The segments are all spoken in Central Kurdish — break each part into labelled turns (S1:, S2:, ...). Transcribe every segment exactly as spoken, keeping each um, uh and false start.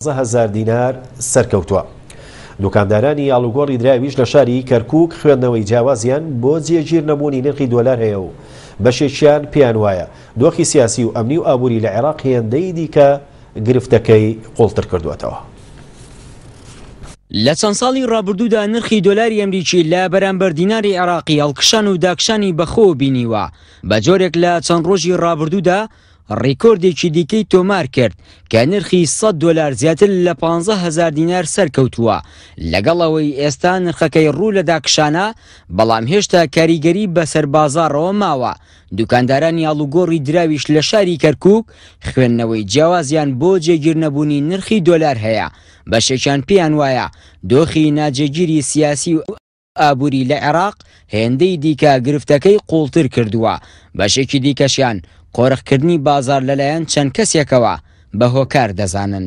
S1: هەزار دینار سەرکەوتووە. دوکاندارانی ئاڵوگۆڕی دراویش لە شاری کەرکووک خوێندنەوەی جیاوازیان بۆ جێگیر نەبوونی نرخی دۆلار هەیە و بەشێکیان پێیان وایە دۆخی سیاسی و ئەمنی و ئابووری لە عێراق هێندەی دیکە گرفتەکەی قوڵتر کردووەتەوە.
S2: لە چەند ساڵی ڕابردوودا نرخی دۆلاری ئەمریکی لە بەرامبەر دیناری عێراقی هەڵکشان و داکشانی بەخۆوە بینیوە، بە جۆرێک لە چەند ڕۆژی ڕابردوودا ڕیکۆردێکی دیکەی تۆمار کرد کە نرخی سەد دۆلار زیاتر لە پانزە هەزار دینار سەرکەوتووە. لەگەڵ ئەوەی ئێستا نرخەکەی ڕوو لە داکشانە، بەڵام هێشتا کاریگەری بەسەر بازاڕەوە ماوە. دوکاندارانی ئاڵوگۆڕی دراویش لە شاری کەرکووک خوێندنەوەی جیاوازیان بۆ جێگیر نەبوونی نرخی دۆلار هەیە. بەشێکیان پێیان وایە دۆخی ناجێگیری سیاسی و ئابووری لە عێراق هێندەی دیکە گرفتەکەی قوڵتر کردووە. بەشێکی دیکەشیان قۆرخکردنی بازار لەلایەن چەند کەسێکەوە بە هۆکار دەزانن.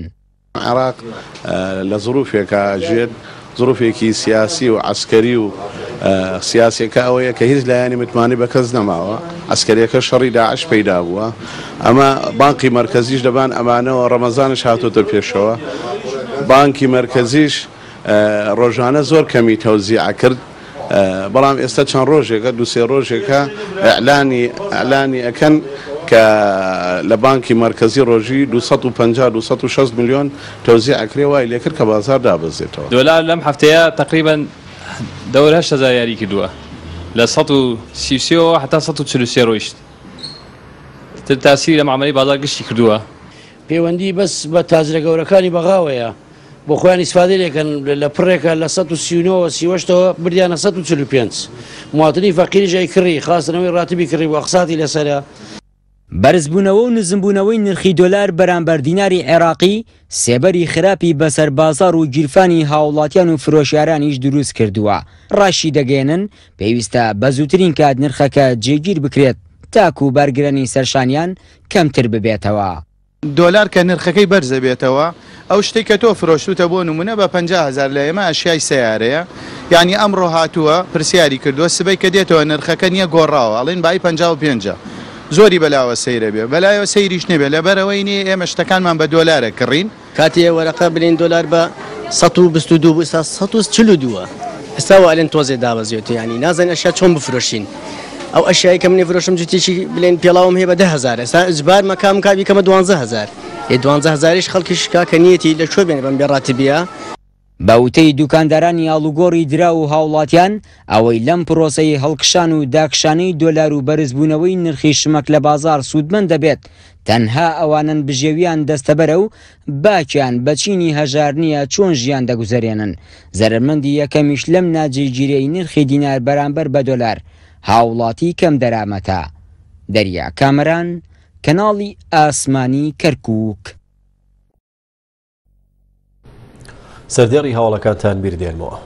S3: عێراق لە ظروفێکە ژێت، ظروفێکی سیاسی و عەسکەری و سیاسیەکە ئەوەیە کە هیچ لایەنی متمانەی بە کەس نەماوە. عەسکەریەکە شەڕی داعش پەیدا بووە، ئەمە بانکی مەرکەزیش دەبان ئەمانەوە، ڕەمەزانش هاتۆتە پێشەوە. بانکی مەرکەزیش ڕۆژانە زۆر کەمی تەوزیع کرد، بەڵام ئێستا چەند ڕۆژێکە، دوو سێ ڕۆژێکە ئەعلانی ئەعلانی ئەکەن کە لە بانکی مەرکەزی ڕۆژی دوو سەد و پەنجا دوو سەد و شەست ملیۆن تەوزیع ئەکرێ، وای لێکرد کە بازار دابەزێتەوە.
S4: دۆلار لەم هەفتەیە تقریبا دەور هەشت هەزار یاری کردووە، لە سەد و سی و سێەوە هەتا سەد و چل و سێ ڕۆیشت. تر تاسیری لە معاملەی بازار گشتی کردووە.
S5: پەیوەندی بەس بە تاجرە گەورەکانی بەغاوەیە، بۆ خۆیان ئیسفادە لێکەن. لە پڕێکە لە سەد و سی و نۆوە سی و هەشتەوە بردیانە سەد و چل و پێنج. مواطنی فەقیریش ئەی کڕی، خواستنەوەی ڕاتبی کڕی بۆ ئەقساتی لەسەرە.
S2: بەرزبوونەوە و نزمبوونەوەی نرخی دۆلار بەرامبەر دیناری عێراقی سێبەری خراپی بەسەر بازار و گیرفانی هاوڵاتیان و فرۆشیارانیش دروست کردووە. ڕاشی دەگەێنن پێویستە بە زووترین کات نرخەکە جێگیر بکرێت تاکو بارگرانی سەرشانیان کەمتر ببێتەوە.
S6: دۆلار کە نرخەکەی بەرزە بێتەوە، ئەو شتێک کە تۆ فرۆشتوتە بۆ نمونە بە پەنجا هەزار لە ئێمە ئەشیای سیارەیە، یعنی ئەمڕۆ هاتووە پرسیاری کردووە، سبەی کە دێتەوە نرخەکە نییە گۆڕاوە، ئەڵێن بای پەنجا و پێنجە. زۆری بەلاوە سەیرە بێ، بەلایەوە سەیریش نەبێ، لەبەرەوەی نییە ئێمە شتەکانمان بە دۆلارە کڕین.
S7: کاتێ وەرەقە بلین دۆلار بە سەد و بیست و دوو بوو، ئێستا سەد و چل و دووە. ئێستا وا ئەلێن تۆزێ دابەزیێتەوە، یعنی نازانین ئەشیا چۆن بفرۆشین. ئەو ئەشیایی کە منی فرۆشم جوتێکی بلێن پێڵاوم هەیە بە دە هەزار، ئێستا ئیجبار مەکام کا بیکەمە دوانزە هەزار. ئێ دوانزە هەزاریش خەڵکیش کاکە نیەتی لە کوێ بێنێ بەم بێڕاتبیە؟
S2: بە وتەی دوکاندارانی ئاڵوگۆڕی دراو و هاوڵاتیان، ئەوەی لەم پرۆسەی هەڵکشان و داکشانەی دۆلار و بەرزبوونەوەی نرخی شمەک لە بازار سوودمەند دەبێت تەنها ئەوانن بژێویان دەستەبەرە و باکیان بە چینی هەژار نییە چۆن ژیان دەگوزەرێنن. زەرەرمەندی یەکەمیش لەم ناجێگیرەی نرخی دینار بەرامبەر بە دۆلار هاوڵاتی کەم دەرامەتە. دەریا کامەران، کەناڵی ئاسمانی کەرکووک.
S1: سەردێڕی هەواڵەکانتان بیردێنمەوە.